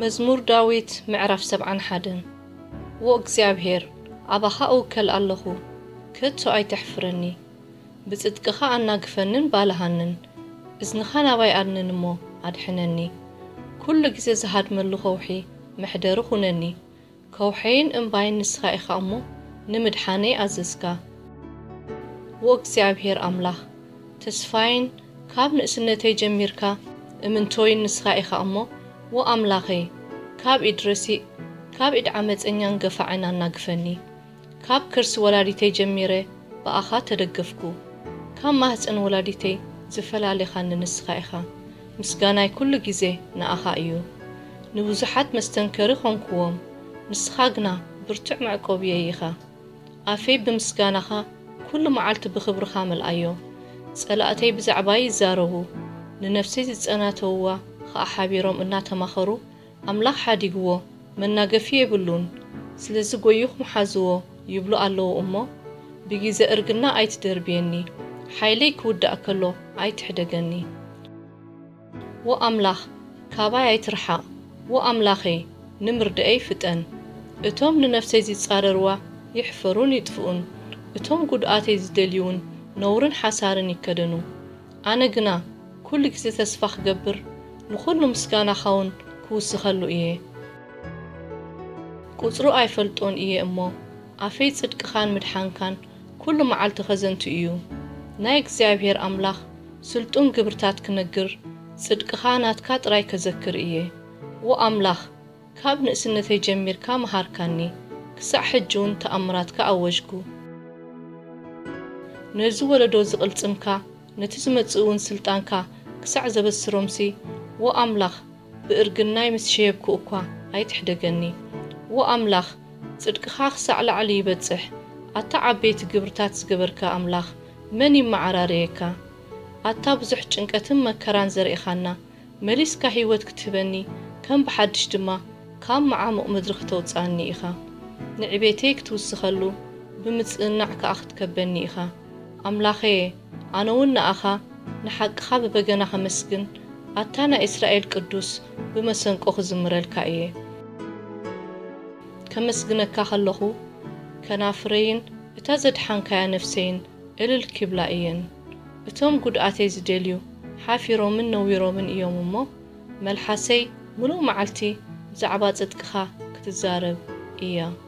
መዝሙር ዳዊት ምዕራፍ ሰብዓን ሓደን። ዎ እግዚኣብሔር፣ ኣባኻ እውከል ኣለኹ፣ ከቶ ኣይተሕፍረኒ። ብጽድቅኻ ኣናግፈንን ባልሃንን፣ እዝንኻ ናባይ ኣድንን እሞ ኣድሕነኒ። ኩሉ ግዜ ዝሃድመሉ ኸውሒ መሕደሪ ኹነኒ። ከውሐይን እምባይን ንስኻ ኢኻ እሞ፣ ንምድሓነይ ኣዘዝካ። ዎ እግዚኣብሔር ኣምላኽ፣ ተስፋይን ካብ ንእስነተይ ጀሚርካ እምንቶይን ንስኻ ኢኻ እሞ፣ ዎ ኣምላኸይ፣ ካብ ኢድ ረሲእ፣ ካብ ኢድ ዓመፀኛን ገፋዕን ኣናግፈኒ። ካብ ከርሲ ወላዲተይ ጀሚረ ብኣኻ ተደገፍኩ። ካብ ማህፀን ወላዲተይ ዝፈላሌኻኒ ንስኻ ኢኻ። ምስጋናይ ኩሉ ግዜ ንኣኻ እዩ። ንብዙሓት መስተንከሪ ኾንኩዎም፣ ንስኻ ግና ብርቱዕ መዕቆብየይ ኢኻ። ኣፈይ ብምስጋናኻ ኩሉ መዓልቲ ብኽብርኻ መልኣዮ። ጸላእተይ ብዛዕባይ ይዛረቡ፣ ንነፍሰይ ዝጸናተውዋ ኸኣ ሓቢሮም እናተማኸሩ፣ ኣምላኽ ሓዲግዎ፣ መናገፊ የብሉን። ስለዚ ጐይኹም ሓዝዎ ይብሉ ኣለዉ እሞ፣ ብጊዘ እርግና ኣይትደርብየኒ፣ ሓይለይ ክውዳእ ከሎ ኣይትሕደገኒ። ዎ ኣምላኽ፣ ካባይ ኣይትርሓቕ። ዎ ኣምላኸይ፣ ንምርድኣይ ፍጠን። እቶም ንነፍሰይ ዚጻረርዋ ይሕፈሩን ይጥፍኡን። እቶም ጒድኣተይ ዝደልዩ እውን ነውርን ሓሳርን ይከደኑ። ኣነ ግና ኩሉ ግዜ ተስፋ ክገብር፣ ንኹሉ ምስጋናኻውን ክውስኸሉ እየ። ቁጽሩ ኣይፈልጦን እየ እሞ፣ ኣፈይ ጽድቅኻን ምድሓንካን ኩሉ መዓልቲ ኸዘንቱ እዩ። ናይ እግዚኣብሔር ኣምላኽ ስልጡን ግብርታት ክነግር፣ ጽድቅኻ ናትካ ጥራይ ከዘክር እየ። ዎ ኣምላኽ፣ ካብ ንእስነተይ ጀሚርካ መሃርካኒ፣ ክሳዕ ሕጂ እውን ተኣምራትካ ኣወጅኩ። ነዚ ወለዶ ዝቕልጽምካ፣ ነቲ ዝመጽእ እውን ስልጣንካ ክሳዕ ዘበስሮምሲ፣ ዎ ኣምላኽ፣ ብእርግናይ ምስ ሸየብኩ እኳ ኣይትሕደገኒ። ዎ ኣምላኽ፣ ጽድቅኻ ክሳዕ ላዕሊ ይበጽሕ። ኣታ ዓበይቲ ግብርታት ዝገበርካ ኣምላኽ፣ መን ይመዓራረየካ? ኣታ ብዙሕ ጭንቀትን መከራን ዘርኢኻና፣ መሊስካ ህይወት ክትህበኒ፣ ከም ብሓድሽ ድማ ካብ መዓሙቕ ምድሪ ክተውጽኣኒ ኢኻ። ንዕቤተይ ክትውስኸሉ፣ ብምጽእናዕ ከኣ ክትከበኒ ኢኻ። ኣምላኸየ፣ ኣነ እውን ንኣኻ፣ ንሓቅኻ ብበገና ኸመስግን፣ ኣታ ናይ እስራኤል ቅዱስ ብመሰንቆ ክዝምረልካ እየ። ከመስግነካ ኸለኹ፣ ከናፍረይን እታ ዘድሓንካያ ነፍሰይን እልል ኪብላ እየን። እቶም ጒድኣተይ ዝደልዩ ሓፊሮምን ነዊሮምን እዮም እሞ፣ መልሓሰይ ምሉእ መዓልቲ ብዛዕባ ጽድቅኻ ክትዛረብ እያ።